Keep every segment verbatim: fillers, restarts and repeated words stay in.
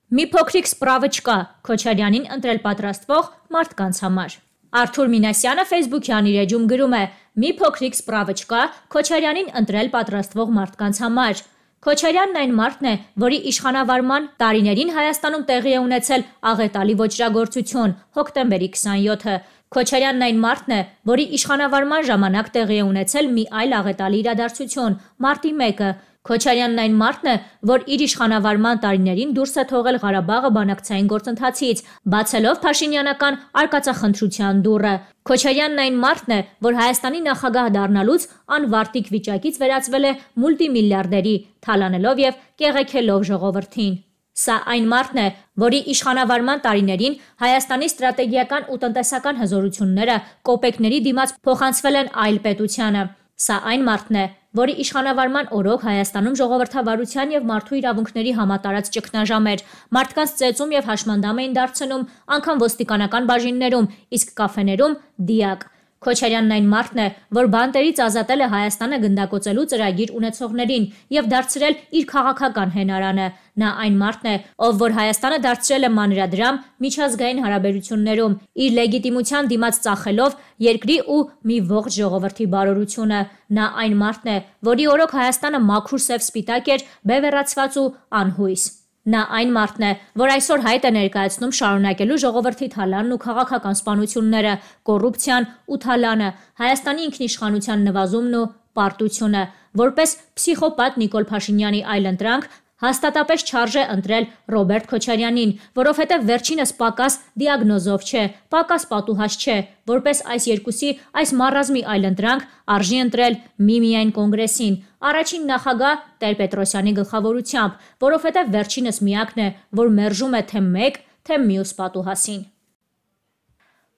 Մի փոքրիկ սպրավիչկա Քոչարյանին ընտրել պատրաստվող մարդկանց համար։ Արթուր Մինասյանը Facebook-յան իր էջում գրում է. «Մի փոքրիկ սպրավիչկա Քոչարյանին ընտրել պատրաստվող մարդկանց համար»։ Քոչարյանն այն մարդն է, որի իշխանավարման տարիներին Հայաստանում տեղի է ունեցել աղետալի ոճրագործություն՝ հոկտեմբերի քսաներկուսը։ Քոչարյանն այն մարդն է, որի իշխանավարման ժամանակ տեղի է ունեցել մի այլ աղետալի իրադարձություն՝ մարտի մեկը։ Քոչարյանն այն մարդն է, որ իր իշխանավարման տարիներին դուրս է թողել Ղարաբաղը բանակցային գործընթացից, բացելով փաշինյանական արկածախնդրության դուռը։ Քոչարյանն այն մարդն է, որ Հայաստանի նախագահ դառնալուց անվարտիկ վիճակից վերածվել է մուլտիմիլիարդերի, թալանելով և կեղեքելով ժողովրդին։ Սա այն մարդն է, որի իշխանավարման տարիներին Հայաստանի ստրատեգիական ու տնտեսական հզորությունները կոպեկների դիմաց փոխանցվել են այլ պետությանը։ Սա այն մարդն է, որի իշխանավարման օրոք Հայաստանում ժողովրդավարության և մարդու իրավունքների համատարած ճգնաժամ էր, մարդկանց ծեծում և հաշմանդամ էին դարձնում անգամ ոստիկանական բաժիններում, իսկ կաֆեներում՝ դիակ։ Քոչարյանն այն մարդն է, որ բանտերից ազատել է Հայաստանը գնդակոծելու ծրագիր ունեցողներին և դարձրել իր քաղաքական հենարանը։ Նա այն մարդն է, ով որ Հայաստանը դարձրել է մանրադրամ միջազգային հարաբերություններում, իր լեգիտիմության դիմաց ծախելով երկրի ու մի ողջ ժողովրդի բարօրությունը։ Նա այն մարդն է, որի օրոք Հայաստանը մաքուր սև սպիտակ էր, բևեռացված ու անհույս։ Նա այն մարդն է, որ այսօր հայտ է ներկայացնում շարունակելու ժողովրդի թալանն ու քաղաքական սպանությունները, կոռուպցիան ու թալանը, Հայաստանի ինքնիշխանության նվազումն ու պարտությունը։ Որպես փսիխոպատ Նիկոլ Փաշինյանի այլընտրանք հաստատապես չարժե ընտրել Ռոբերտ Քոչարյանին, որովհետև վերջինս պակաս դիագնոզով չէ, պակաս պատուհաս չէ։ Որպես այս երկուսի այս մառազմի այլընտրանք արժի ընտրել միմիայն Կոնգրեսին, առաջին նախագահ Տեր-Պետրոսյանի գլխավորությամբ, որովհետև վերջինս միակն է, որ մերժում է թե մեկ, թե մյուս պատուհասին։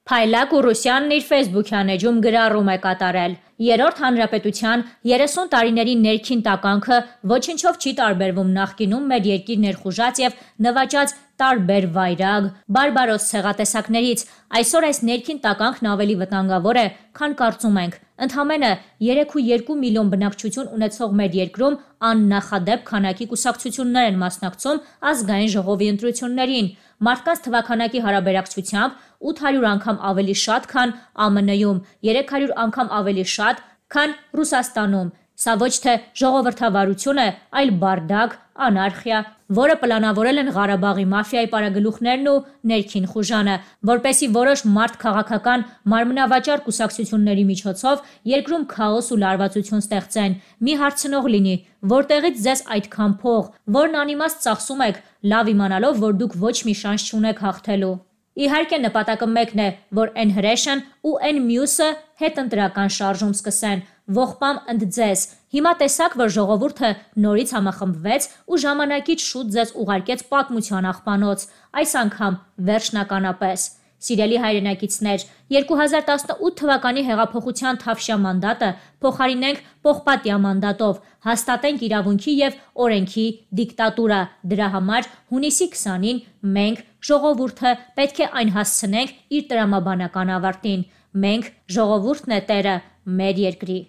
Փայլակ Ուրուսյանն իր Facebook-յան էջում գրառում է կատարել. «Երրորդ հանրապետության երեսուն տարիների ներքին տականքը ոչնչով չի տարբերվում նախկինում մեր երկիր ներխուժած և նվաճած տարբեր վայրագ, բարբարոս ցեղատեսակներից։ Այսօր այս ներքին տականքն ավելի վտանգավոր է, քան կարծում ենք։ Ընդամենը երեք ու երկու միլիոն բնակչություն ունեցող մեր երկրում աննախադեպ քանակի կուսակցություններ են մասնակցում ազգային ժողովի ընտրություններին։ Մարդկանց թվաքանակի հարաբերակցությամբ ութ հարյուր անգամ ավելի շատ, քան ԱՄՆ-ում, երեք հարյուր անգամ ավելի շատ, քան Ռուսաստանում։ Սա ոչ թե ժողովրդավարություն է, այլ բարդակ, անարխիա, որը պլանավորել են Ղարաբաղի մաֆիայի պարագլուխներն ու ներքին խուժանը, որպեսզի որոշ մարդքաղաքական մարմնավաճառ կուսակցությունների միջոցով երկրում քաոս ու լարվածություն ստեղծեն։ Մի հարցնող լինի, որտեղից ձեզ այդքան փող, որն անիմաստ ծախսում եք, լավ իմանալով, որ դուք ոչ մի շանս չունեք հաղթելու։ Իհարկե նպատակը մեկն է, որ են հրեշն ու են մյուսը հետընտրական շարժում սկսեն, ողբամ ընդձեզ։ Հիմա տեսաք, որ ժողովուրդը նորից համախմբվեց ու ժամանակից շուտ ձեզ ուղարկեց պատմության աղբանոց, այս անգամ վերջնականապես։ Սիրելի հայրենակիցներ, երկու հազար տասնութ թվականի հեղափոխության թավշյա մանդատը փոխարինենք պողպատյա մանդատով, հաստատենք իրավունքի և օրենքի դիկտատուրա։ Դրա համար հունիսի քսանին մենք, ժողովուրդը, պետք է այն հասցնենք իր տրամաբանական ավարտին։ Մենք, ժողովուրդն է տերը մեր երկրի։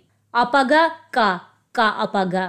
Ապագա կա, կա ապագա։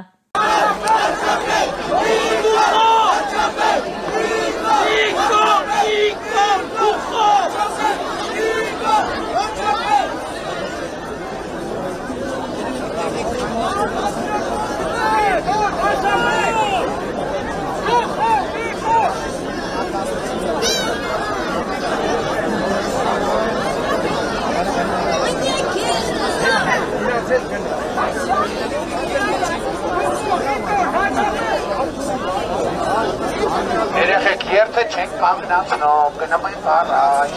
Երեխեք երբե չենք կանգնացնում, գնում ենք առաջ,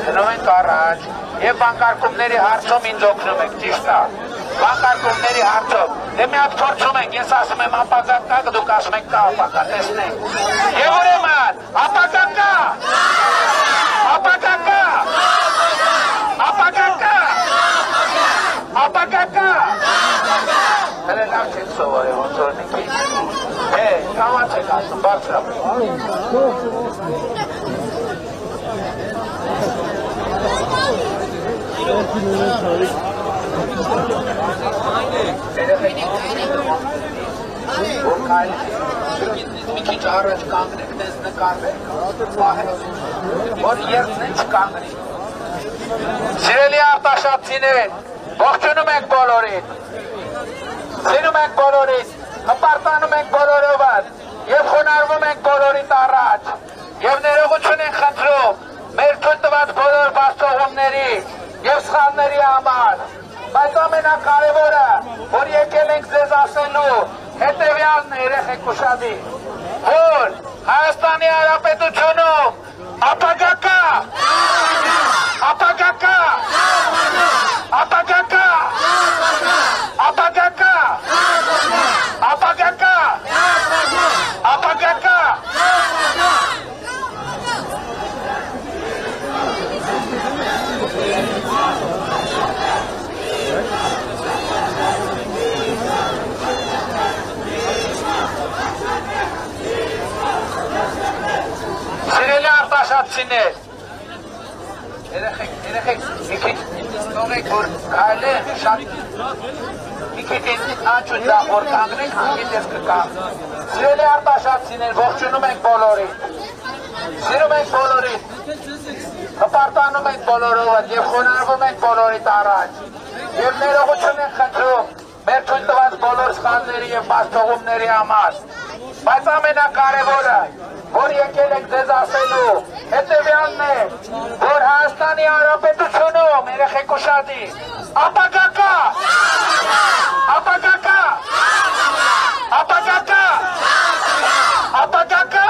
գնում ենք առաջ, և բանկարկումների հարցում ինձ օգնում եք, ճիշտ է, բանկարկումների հարցում, դե մի հատ փորձում ենք, ես ասում եմ ապագա կա, դուք ասում եք կա ապագա, տեսնենք, և ուրեմն, ապագա կա, ապագա կա, ապագա կա, ապագա կա, հələ լավ չեք սովորել, ոնց որ մի քիչ, հե, կամաց եք ասում, բարձրապես։ Երեխեք, որ կայլ քիչ առաջ կանգնեք, դες նկարվեք, պահեք, որ երդն չկանգնի։ Սիրելի արտաշատցիներ, ողջունում ենք բոլորին, սիրում ենք բոլորին, հպարտանում ենք բոլորովան և խոնարհվում ենք բոլորիդ առաջ և ներողություն ենք խնդրում մեր թույլ տված բոլոր բացթողումների և սխալների համար, բայց ամենակարևորը, որ եկել ենք ձեզ ասելու, հետևյալն է, երեխեք ուշադիր, որ Հայաստանի Հանրապետությունում ապագա կա, ապագա կա, ապագա կա, ապագա կա, ապագա կա, ապագա կա։ Սիրելի արտաշատցիներ, երեխեք, երեխեք, մի քիչ թողեք, որ կարելի շատ մի քիչ անջուր դախ, որ կանգնենք, հանգից ես կկա։ Սիրելի արտաշատցիներ, ողջունում ենք բոլորին, սիրում ենք բոլորին, հպարտանում ենք բոլորովն և խոնարհվում ենք բոլորիդ առաջ և ներողություն ենք խնդրում մեր թույլ տված բոլոր սխալների և բացթողումների համար, բայց ամենակարևորը, որ եկել ենք ձեզ ասելու, հետևյալն է, որ Հայաստանի Հանրապետությունում, երեխեք ուշադիր, ապագա կա, ապագա կա, ապագա կա, ապագա կա,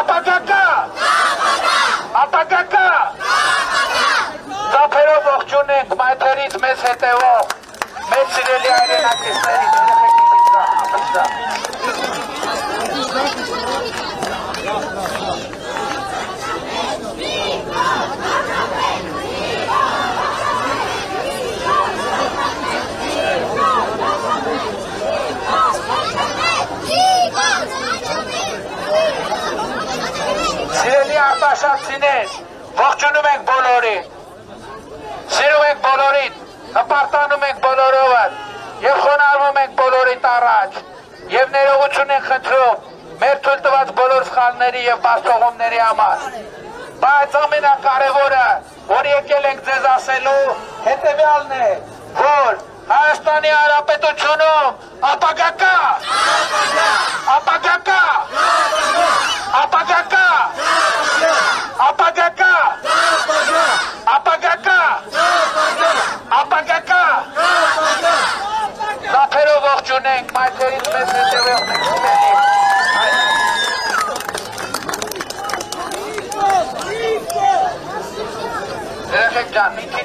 ապագա կա, ապագա կա, ծափերով ողջուն ենք մայթերից մեզ հետևող, մեծ սիրելի հայրենակիցներից, երեխեք մի քիչ կա, Սիրելի արտաշատցիներ, ողջունում ենք բոլորին, սիրում ենք բոլորին, հպարտանում ենք բոլորովն և խոնարհվում ենք բոլորիդ առաջ և ներողություն ենք խնդրում մեր թույլ տված բոլոր սխալների և բացթողումների համար, բայց ամենակարևորը, որ եկել ենք ձեզ ասելու, հետևյալն է, որ Հայաստանի Հանրապետությունում ապագա կա, ապագա կա, ապագա կա, ապագա կա, ապագա կա, ապագա կա, ծափերով ողջուն ենք, մայթերից մեզ հետևող ենք սիրելի։ Երեխեք ջան, մի քիչ